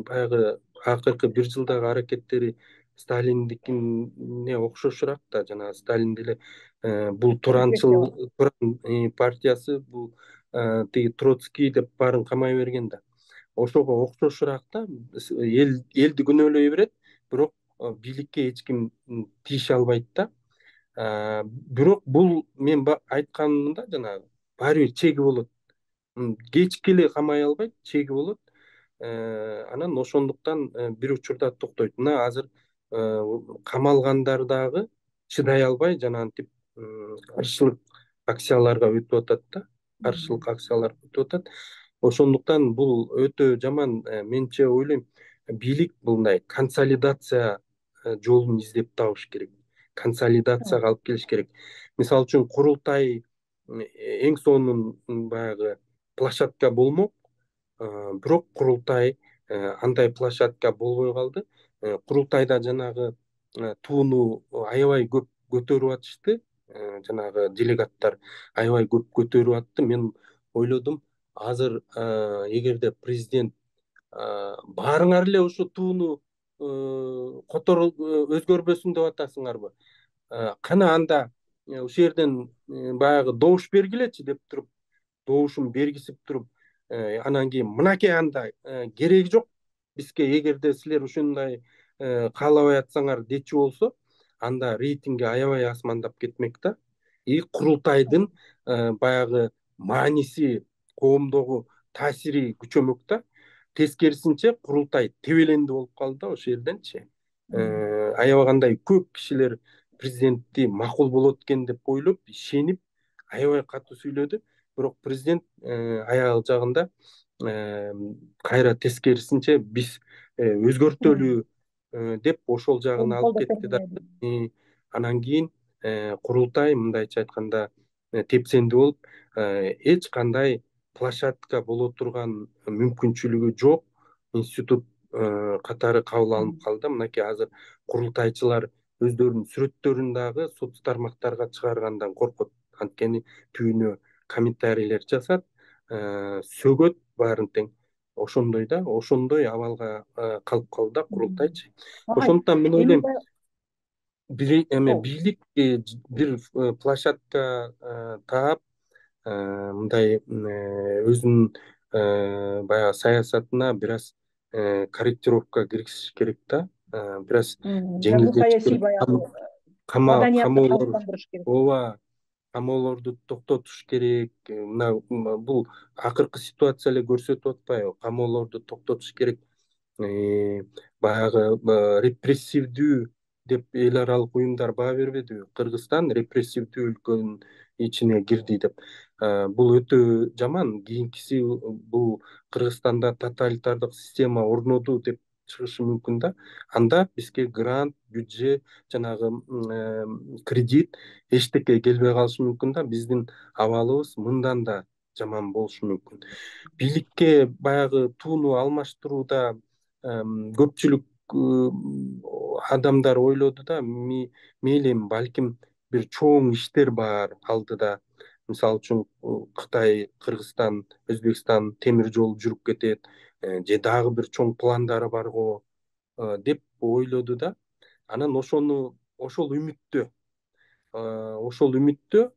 [SPEAKER 2] баягы акыркы бир жылдагы аракеттери Сталиндикине окшошураак да. Жанагы Сталин деле бул туранчыл туран партиясы, бул тиги Троцкий деп баарын камай берген да. Ошого окшошураак да. Эл элди күнөөлөй берет, бирок бийликке эч ким тийише албайт да. Бирок бул мен айтканымда жанагы баары бир чеги болот. Кечке эле камай албайт, чеги болот. Анан ошондуктан бир учурда токтойт. Мына азыр камалгандар дагы чыдай албай жанагынтип каршылык акцияларга өтүп атат да. Каршылык акциялар өтүп атат. Ошондуктан бул өтө жаман. Менче ойлойм, бийлик мындай консолидация жолун издеп табыш керек. Консолидацияга алып келиш керек. Мисалы үчүн курултай эң сонун баягы площадка болмок, бирок курултай андай площадка болбой калды. Курултайда жанагы тууну аябай көп көтөрүп атышты, жанагы делегаттар аябай көп көтөрүп атты. Мен ойлодум, азыр эгерде президент баарыңар эле ушу тууну которуп өзгөрбөсүн деп атасыңарбы, кана анда ушул жерден баягы добуш бергилечи деп туруп добушун бергизип туруп анан кийин мынакей анда кереги жок бизге, эгерде силер ушундай каалабай атсаңар дечү болсо, анда рейтинги аябай асмандап кетмек да. И курултайдын баягы мааниси, коомдогу таасири күчөмөк да. Тескерисинче курултай тебеленди болуп калды да ошол жерденчи. Аябай кандай көп кишилер президентти макул болот экен деп ойлоп, ишенип, аябай катуу сүйлөдү. Бирок президент аял жагында кайра тескерисинче биз өзгөртөлү деп ошол жагын алып кетти да. Анан кийин курултай мындайча айтканда тепсенди болуп, эч кандай площадка боло турган мүмкүнчүлүгү жок институт катары кабыл алынып калды. Мынакей азыр курултайчылар өздөрүнүн сүрөттөрүн дагы соц тармактарга чыгаргандан коркот. Анткени түбүнө комментарийлер жасап, сөгөт баарын тең. Ошондой да, ошондой абалга калып калды да курултайчы. Ошондуктан мен ойлойм, бир эме бийлик бир площадка таап, мындай өзүнүн баягы саясатына бир аз корректировка киргизиш керек да. Бир аз жеңилдетиш керек. Камоолор, ооба, камоолорду токтотуш керек. Мына бул акыркы ситуация эле көрсөтүп атпайбы? Камоолорду токтотуш керек. Баягы репрессивдүү деп эл аралык уюмдар баа бербедиби? Кыргызстан репрессивдүү өлкөнүн ичине кирди деп. Бул өтө жаман. Кийинкиси бул Кыргызстанда тоталитардык система орноду деп чыгышы мүмкүн да. Анда бизге грант, бюджет, жанагы кредит эчтеке келбей калышы мүмкүн да. Биздин абалыбыз мындан да жаман болушу мүмкүн. Бийликке баягы тууну алмаштырууда көпчүлүк адамдар ойлоду да, мейли эми балким бир чоң иштер бар алдыда. Мисалы үчүн Кытай, Кыргызстан, Өзбекстан темир жол жүрүп кетет, же дагы бир чоң пландары бар го деп ойлоду да. Анан ошону ошол үмүттө, ошол үмүттө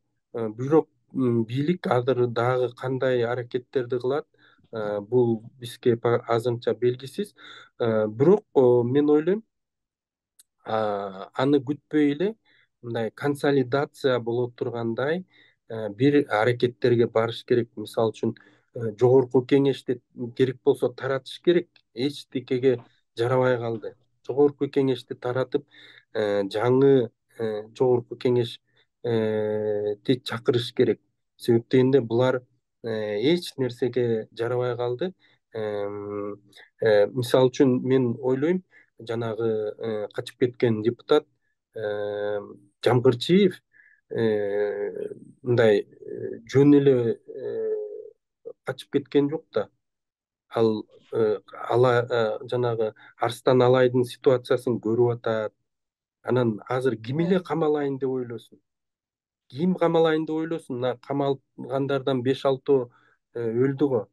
[SPEAKER 2] бирок бийлик азыр дагы кандай аракеттерди кылат, бул бизге азырынча белгисиз. Бирок мен ойлойм, аны күтпөй эле мындай консолидация боло тургандай бир аракеттерге барыш керек. Мисалы үчүн жогорку кеңешти керек болсо таратыш керек. Эчтекеге жарабай калды. Жогорку кеңешти таратып, жаңы жогорку кеңешти чакырыш керек. Себеп дегенде булар эч нерсеге жарабай калды. Мисалы үчүн мен ойлойм, жанагы качып кеткен депутат Жамгырчиев мындай жөн эле качып кеткен жок да. Ал ала жанагы Арстан Алайдын ситуациясын көрүп атат. Анан азыр ким эле камалайын деп ойлосун? Ким камалайын деп ойлосун? Мына камалгандардан беш алтоо өлдү го.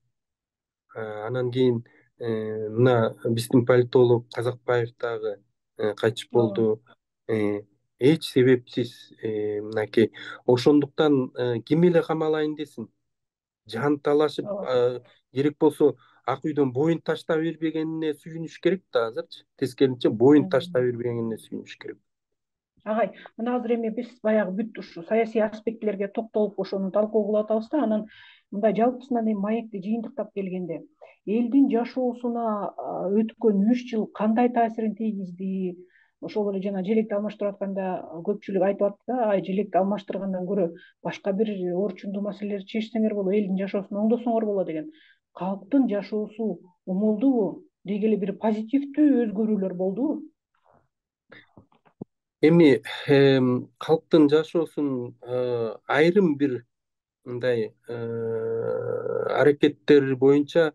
[SPEAKER 2] Анан кийин мына биздин политолог Казакбаев дагы кайтыш болду. Эч себепсиз мынакей. Ошондуктан ким эле камалайын десин? Жан талашып, керек болсо Ак үйдөн боюн таштап бербегенине сүйүнүш керек да азырчы. Тескерисинче боюн таштап бербегенине сүйүнүш керек.
[SPEAKER 1] Агай, мына азыр эми биз баягы бүт ушу саясий аспектилерге токтолуп ошону талкуу кылып атабыз да, анан мындай жалпысынан эми маекти жыйынтыктап келгенде, элдин жашоосуна өткөн үч жыл кандай таасирин тийгизди? Ошол эле жана желекти алмаштырып атканда көпчүлүк айтып атты да, ай желекти алмаштыргандан көрө башка бир орчундуу маселелерди чечсеңер болот, элдин жашоосун оңдосоңор болот деген. Калктын жашоосу оңолдубу? Деги эле бир позитивдүү өзгөрүүлөр болдубу?
[SPEAKER 2] Эми калктын жашоосун айрым бир мындай аракеттер боюнча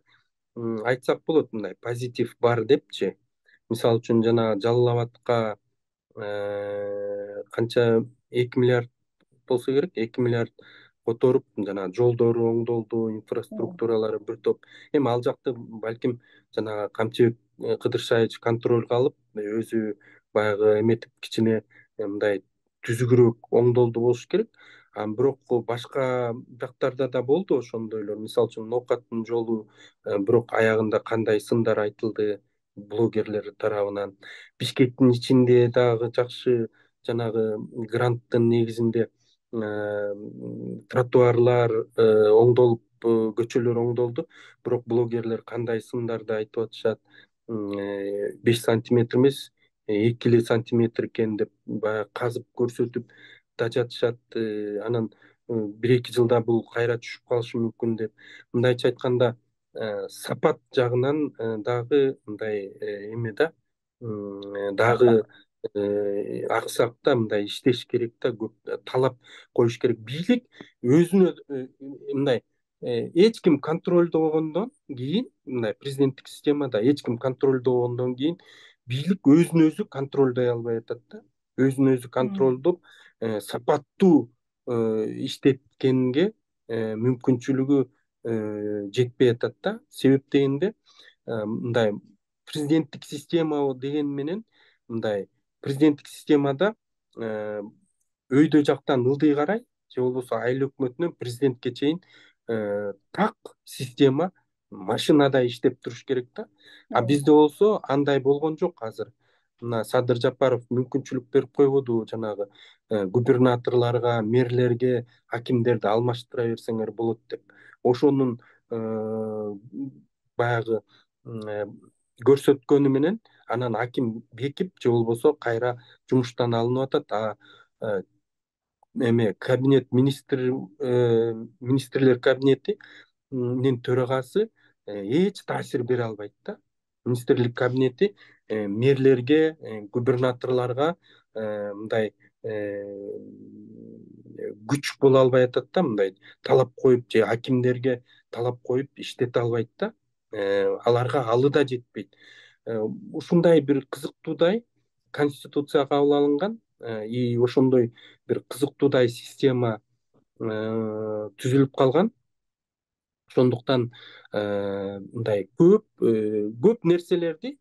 [SPEAKER 2] айтсак болот, мындай позитив бар депчи. Мисалы үчүн жана Жалал Абадка канча эки миллиард болсо керек, эки миллиард которуп, жана жолдору оңдолду, инфраструктуралары бир топ. Эми ал жакты балким жана Камчыбек Кыдыршаевич контролго алып, өзү баягы эметип кичине мындай түзүгүрөөк оңдолду болуш керек. Анан бирок башка жактарда да болду ошондойлор. Мисалы үчүн ноокаттын жолу, бирок аягында кандай сындар айтылды блогерлер тарабынан. Бишкектин ичинде дагы жакшы жанагы гранттын негизинде тротуарлар оңдолуп, көчөлөр оңдолду. Бирок блогерлер кандай сындарды айтып атышат, беш сантиметр эмес, эки эле сантиметр экен деп баягы казып көрсөтүп да жатышат. Анан бир эки жылда бул кайра түшүп калышы мүмкүн деп. Мындайча айтканда, сапат жагынан дагы мындай эме да, дагы аксак да, мындай иштеш керек да, көп талап коюш керек. Бийлик өзүнө мындай эч ким контролдогондон кийин, мындай президенттик системада эч ким контролдогондон кийин бийлик өзүн өзү контролдой албай атат да. Өзүн өзү контролдоп сапаттуу иштеткенге мүмкүнчүлүгү жетпей атат да. Себеп дегенде, мындай президенттик система деген менен, мындай президенттик системада өйдө жактан ылдый карай же болбосо айыл өкмөтүнөн президентке чейин так система машинадай иштеп туруш керек да. А бизде болсо андай болгон жок азыр. Мына Садыр Жапаров мүмкүнчүлүк берип койбоду жанагы губернаторлорго, мэрлерге, акимдерди алмаштыра берсеңер болот деп. Ошонун баягы көрсөткөнү менен анан аким бекип же болбосо кайра жумуштан алынып атат. А эме кабинет министр министрлер кабинетинин төрагасы эч таасир бере албайт да. Министрлик кабинети мэрлерге, губернаторлорго мындай күч боло албай атат да, мындай талап коюп же акимдерге талап коюп иштете албайт да. Аларга алы да жетпейт. Ушундай бир кызыктуудай конституция кабыл алынган, и ошондой бир кызыктуудай система түзүлүп калган. Ошондуктан мындай көп көп нерселерди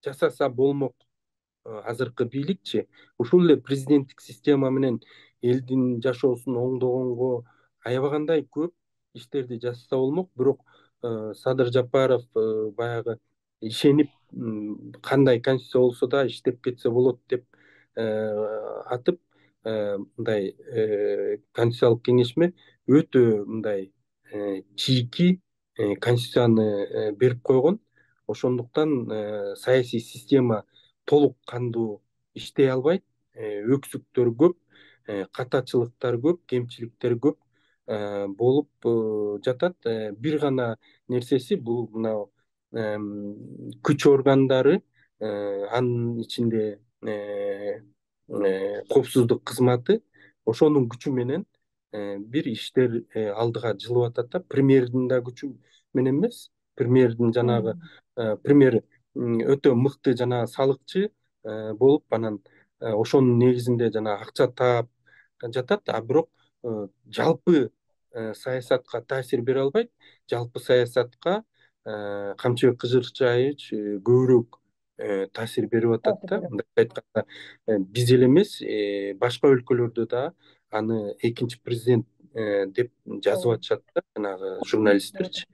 [SPEAKER 2] жасаса болмок азыркы бийликчи. Ушул эле президенттик система менен элдин жашоосун оңдогонго аябагандай көп иштерди жасаса болмок. Бирок Садыр Жапаров баягы ишенип, кандай конституция болсо да иштеп кетсе болот деп атып, мындай конституциялык кеңешме өтө мындай чийки конституцияны берип койгон. Ошондуктан саясий система толук кандуу иштей албайт. Өксүктөр көп, катачылыктар көп, кемчиликтер көп болуп жатат. Бир гана нерсеси бул мына күч органдары, анын ичинде коопсуздук кызматы ошонун күчү менен бир иштер алдыга жылып атат да. Премьердин да күчү менен эмес. Премьердин жанагы премьер өтө мыкты жанагы салыкчы болуп, анан ошонун негизинде жанагы акча таап жатат. А бирок жалпы саясатка таасир бере албайт. Жалпы саясатка Камчыбек Кызырчаевич көбүрөөк таасир берип атат да. Мындай айтканда, биз эле эмес, башка өлкөлөрдө да аны экинчи президент деп жазып атышат да, жанагы журналисттерчи,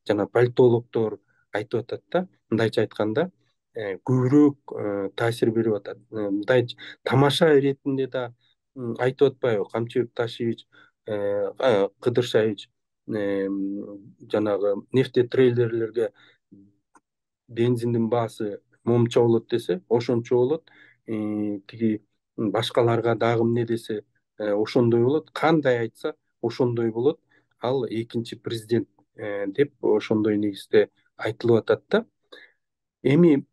[SPEAKER 2] жана политологдор айтып атат да. Мындайча айтканда, көбүрөөк таасир берип атат. Мындай тамаша иретинде да айтып атпайбы, Камчыбек Ташевич, Кыдыршаевич жанагы нефтетрейлерлерге бензиндин баасы момча болот десе, ошончо болот. Тиги башкаларга дагы эмне десе, ошондой болот. Кандай айтса, ошондой болот. Ал экинчи президент деп ошондой негизде айтылып атат да. Эми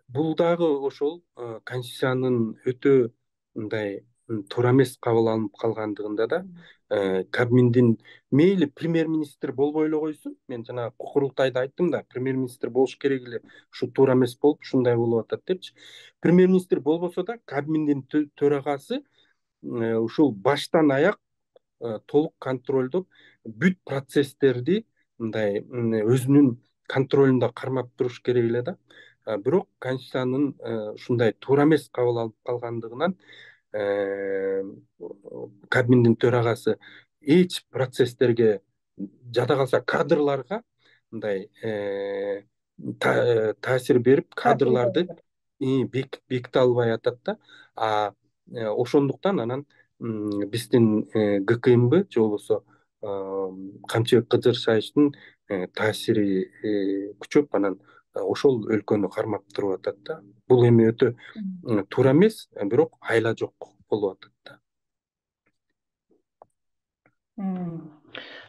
[SPEAKER 2] бул дагы ошол конституциянын өтө мындай туура эмес кабыл алынып калгандыгында да, Кабминдин мейли премьер-министр болбой эле койсун. Мен жана курултайда айттым да, премьер-министр болуш керек эле, ушу туура эмес болуп, ушундай болуп атат депчи. Премьер-министр болбосо да, Кабминдин төрагасы ушул баштан аяк толук контролдоп, бүт процесстерди мындай өзүнүн контролунда кармап туруш керек эле да. бирок конституциянын ушундай туура эмес кабыл алып калгандыгынан Кабминдин төрагасы эч процесстерге жада калса кадрларга мындай таасир берип кадрларды беките албай атат да. А ошондуктан анан биздин ГКМБ же болбосо Камчыбек Кыдыршаевдин таасири күчөп анан ошол өлкөнү кармап туруп атат да. Бул эми өтө туура эмес, бирок айла жок болуп атат да.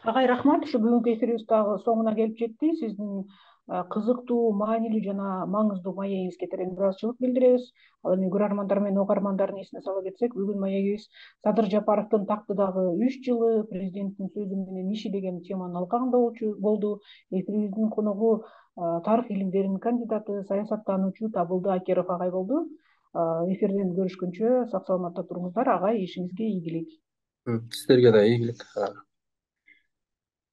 [SPEAKER 1] Агай, рахмат. Ушу бүгүнкү эфирибиз дагы соңуна келип жетти. Сиздин кызыктуу, маанилүү жана маңыздуу маегиңизге терең ыраазычылык билдиребиз. Ал эми көрөрмандар менен угармандардын эсине сала кетсек, бүгүн маегибиз Садыр Жапаровдун тактыдагы үч жылы, президенттин сөзү менен иши деген теманын алкагында болду. Эфирибиздин коногу тарых илимдеринин кандидаты, саясаттануучу Табылды Акеров агай болду. Эфирден көрүшкөнчө сак саламатта туруңуздар. Агай, ишиңизге ийгилик.
[SPEAKER 2] Сиздерге да ийгилик.